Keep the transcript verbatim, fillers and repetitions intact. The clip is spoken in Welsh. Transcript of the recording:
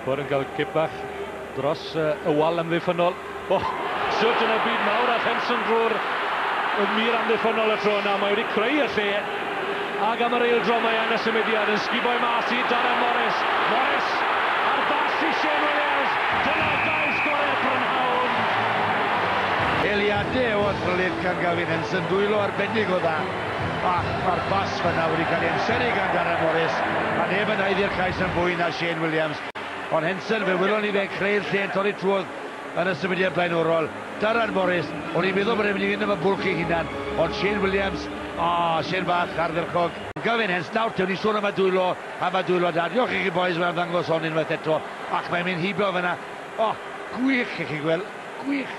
Hooper yn cael cip bach dros uh, y wal amddiffynnol. Oh, sut yn y byd mawr a Henson drwy'r y mur amddiffynnol y tro yna. Mae wedi creu y lle. Ac am yr eildro mae yn y symudiad yn sguboi mas i Darren Morris. Morris ar bas i Shane Williams. Dyna gais gorau'r prynhawn. Eiliadau o athrylith gan Gavin Henson, dwylo arbennig o dda. Ac mae'r bas fyna wedi cael ei amseru gan Darren Morris, a neb yn haeddu'r cais yn fwy na Shane Williams. Ond Henson, fe wylwn ni fe'n creu'r lle yn torri trwodd yn y symudiad blaenorol. Darren Morris, o'n i'n meddwl bod e'n mynd i fynd am y bwlch ei hunan, ond Shane Williams, o, oh, Shane bach ardderchog. Gavin Henson, nawr te, o'n i'n sôn am y dwylo, am y dwylo da. Diolch i chi boys, mae'n ddangos hon unwaith eto, ac mae'n mynd hibio fyna. O, oh, gwych i chi gweld, gwych.